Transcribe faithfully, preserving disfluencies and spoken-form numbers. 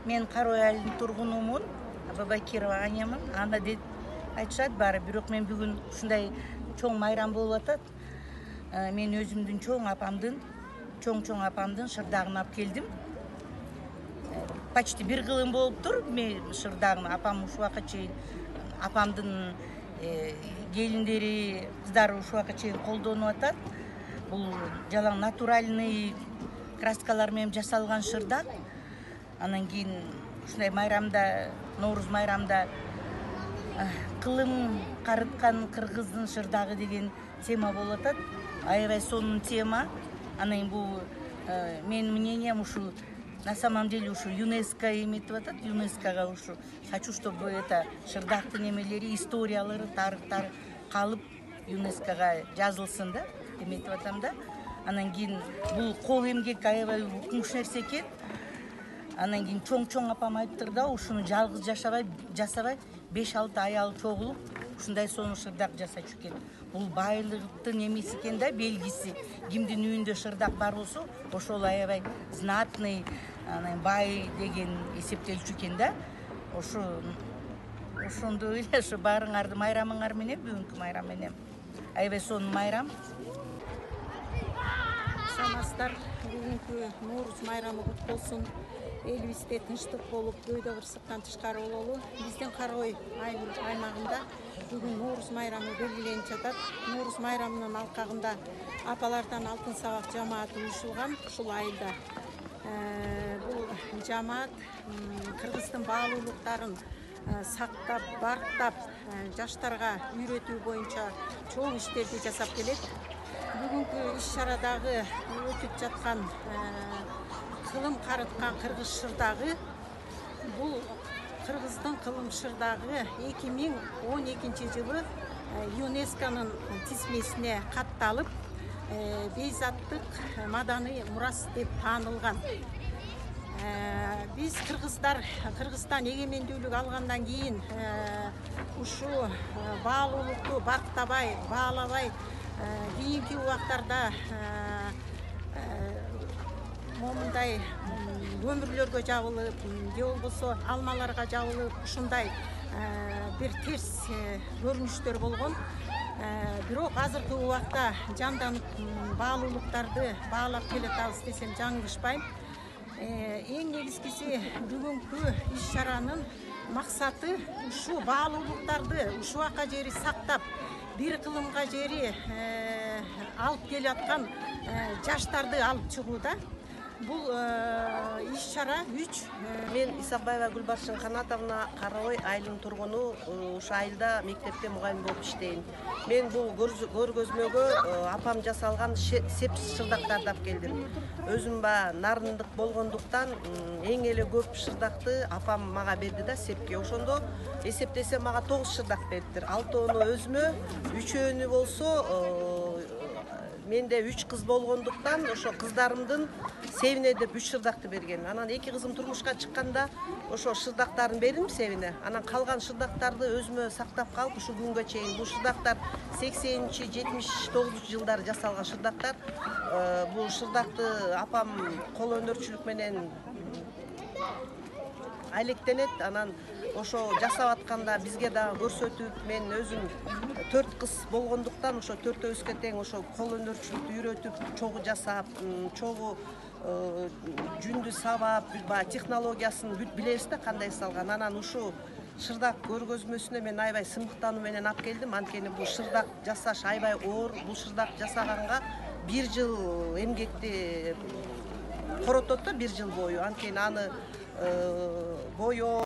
Мен Карой айылынын тургунумун, Бабакирова Анямын. Анда деп айтышат баары, бирок мен бүгүн ушундай чоң майрам болуп атат. Мен өзүмдүн чоң апамдын, чоң-чоң апамдын шырдагын алып келдим. Почти бир кылым болуптур. Мен шырдагым апам ушул убакка чейин апамдын келиндери, кыздары ушул убакка чейин колдонуп атат. Бул жалаң натуральный краскалар менен жасалган шырдак. Анан кийин ушундай майрамда, Нооруз майрамда кылым карыткан кыргыздын шырдагы деген тема болуп атат. Аябай сонун тема. Анан бул менин мнением ушу на самом деле ушу ЮНЕСКО эметип атат. ЮНЕСКОга ушу хочу, чтобы это шырдактын эмелери, историялары, тарыхтары калып ЮНЕСКОга жазылсын да, эметип атам да. Анан кийин бул кол эмгек аябай укмуш нерсе экен. Анан кийин чоң-чоң апам айтыптыр да, ушуну жалгыз жашабай, жасабай беш алты аял чогулуп ушундай сонун шырдак жасачу экен. Бул байлыктын эмеси экен да, белгиси. Кимдин үйүндө шырдак бар болсо, ошол аябай знатный, анан бай деген эсептелчү экен да. Ошо ошондо эле ошо баарыңарды майрамыңар менен, бүгүнкү майрам менен аябай сонун майрам. Саламатсыздар, бүгүнкү Нооруз майрамы кут болсун. Элибизде тынчтык болуп, көйдө кырсыктан тышкары бололу. Биздин Карой аймагында бүгүн Нооруз майрамы белгиленип жатат. Нооруз майрамынын алкагында апалардан алтын сабак жамааты уюшулган ушул айылда. Бул жамаат кыргыздын баалуулуктарын сактап, барктап, жаштарга үйрөтүү боюнча чоң иштерди жасап келет. Бүгүнкү иш-чарадагы өтүп жаткан кылым карыткан кыргыз шырдагы, бул кыргыздын кылым шырдагы эки миң он экинчи жылы ЮНЕСКОнун тизмесине катталып, бейзаттык маданий мурас деп таанылган. Биз кыргыздар Кыргызстан эгемендүүлүк алгандан кийин ушул баалуулукту барктабай, баалабай, кийинки убактарда момундай өмүрлөргө жабылып, же болбосо алмаларга жабылып, ушундай бир терс көрүнүштөр болгон. Бирок азыркы убакта жанданып баалуулуктарды баалап келатабыз десем жаңылышпайм. Эң негизгиси бүгүнкү иш-чаранын максаты ушул баалуулуктарды ушул убакка жери сактап, бир кылымга жери алып келаткан жаштарды алып чыгууда. Бул иш-чара үч. Мен Исакбаева Гүлбаршын Канатовна, Карой айылынын тургуну, ушу айылда мектепте мугалим болуп иштейм. Мен бул көргөзмөгө апам жасалган сеп шырдактарды алып келдим. Өзүм ба нарындык болгондуктан эң эле көп шырдакты апам мага берди да сепке. Ошондо эсептесем мага тогуз шырдак бериптир. Алтоону өзүмө, үчөөнү болсо менде үч кыз болгондуктан ошо кыздарымдын себине деп үч шырдакты берген. Анан эки кызым турмушка чыкканда ошо шырдактарын бердим себине. Анан калган шырдактарды өзүмө сактап калып, ушу күнгө чейин бул шырдактар сексенинчи, жетимиш тогузунчу жылдары жасалган шырдактар. Бул шырдакты апам кол өнөрчүлүк менен алектенет. Анан ошо жасап атканда бизге дагы көрсөтүп, мен өзүм төрт кыз болгондуктан ошо төртөөбүзгө тең ошо кол өнөрчүлүктү үйрөтүп, чогуу жасап, чогуу жүндү сабап, баягы технологиясын бүт билебиз да кандай салган. Анан ушул шырдак көргөзмөсүнө мен аябай сыймыктануу менен алып келдим. Анткени бул шырдак жасаш аябай оор. Бул шырдак жасаганга бир жыл эмгекти коротот да, бир жыл бою. Анткени аны боё